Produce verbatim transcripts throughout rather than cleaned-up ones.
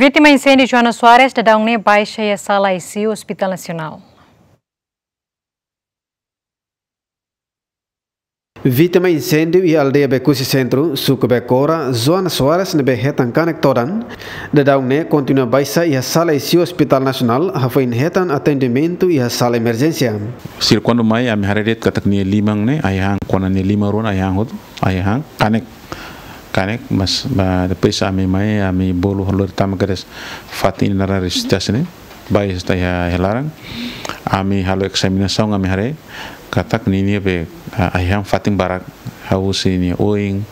Vítima inséndiu Joana Soares daudaun ne'e baixa iha sala I C U Hospital Nasionál. Vítima inséndiu iha aldeia Becusse Centro, suku Becora, Joana Soares ne'ebé hetan kanek todan, daudaun ne'e kontinua baixa iha sala I C U Hospital Nasionál, hafoin hetan atendimentu iha sala emerjénsia. Sira kuandu mai, ami haree de'it katak nia liman ne'e, ai-han, kona nia liman rua ne'e ai-han hotu, ai-han, kanek, kanek, mas, ba, depois ami mai, ami bolu lori tama kedas fatin naran resistasi ne'e, baixa iha, iha laran. Ami halo ezaminasaun, ami haree katak ninia be, ah, ai-han fatin barak, hahú husi nia oin,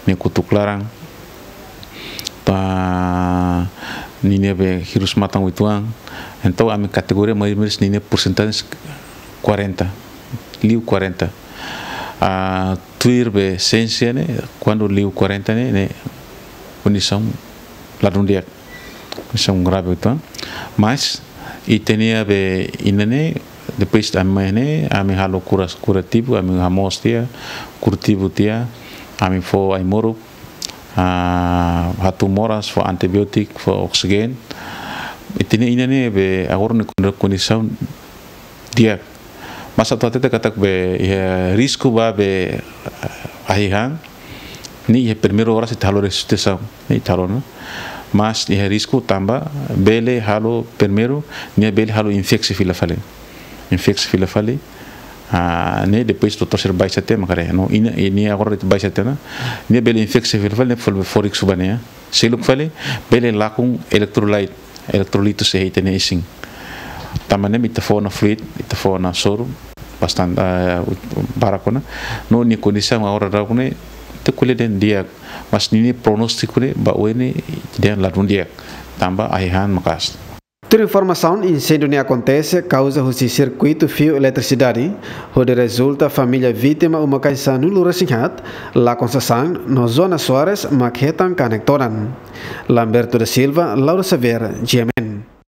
nia kotuk laran, ba ninia be hirus-matan uitoan. Entaun ami kategoria mai meris ninia porcentagem quarenta, liu quarenta. Ah, tuir be siénsia ne'e, kuandu liu quarenta ne'e, ne'e kondisaun ladún di'ak, kondisaun grave uitoan. Mas ita-nia be inan ne'e, depois ami mai ne'e, ami halo kura, kurativu, ami hamoos tiha, kurativu tiha, ami fó ai-moruk, ah, hatún moras, fó antibiótiku, fó oksijéniu. Ita-nia inan ne'e be agora ne'e kondisaun di'ak. Mas atu hatete katak be iha risku ba be, ah, ai-han, ne'e iha primeiru oras ita halo resisitasaun, ne'e ita halo ona. Mas iha risku tanba bele halo primeiru, nia bele halo infeksi fila fali. Infeksi fila fali. Ah, ne'e depois doutór sira baixa tiha mak haree. No, inan, nia agora ita baixa tiha ona. Nia bele infeksi fila fali, ne'e fó, fó risku ba nia. Seluk fali, bele lakon electrolyte, electrolitos iha ita-nia isin. Tanba ne'e ita fó ona fluid, ita fó ona soru, bastante, ah, barak ona. No, nia kondisaun agora daudaun ne'e, ita ko'alia dehan di'ak, mas ninia prognóstiku ne'e, ba oin ne'e, dehan ladún di'ak. Tanba ai-han maka'as. Tuir informasaun, inséndiu ne'e akontese kauza husi sirkuitu fiu eletrisidade, hodi rezulta família vítima uma-kain sanulu-resin-haat, lakon sasán, no Joana Soares mak hetan kanek todan. Lamberto da Silva, Laura Xavier, G M N.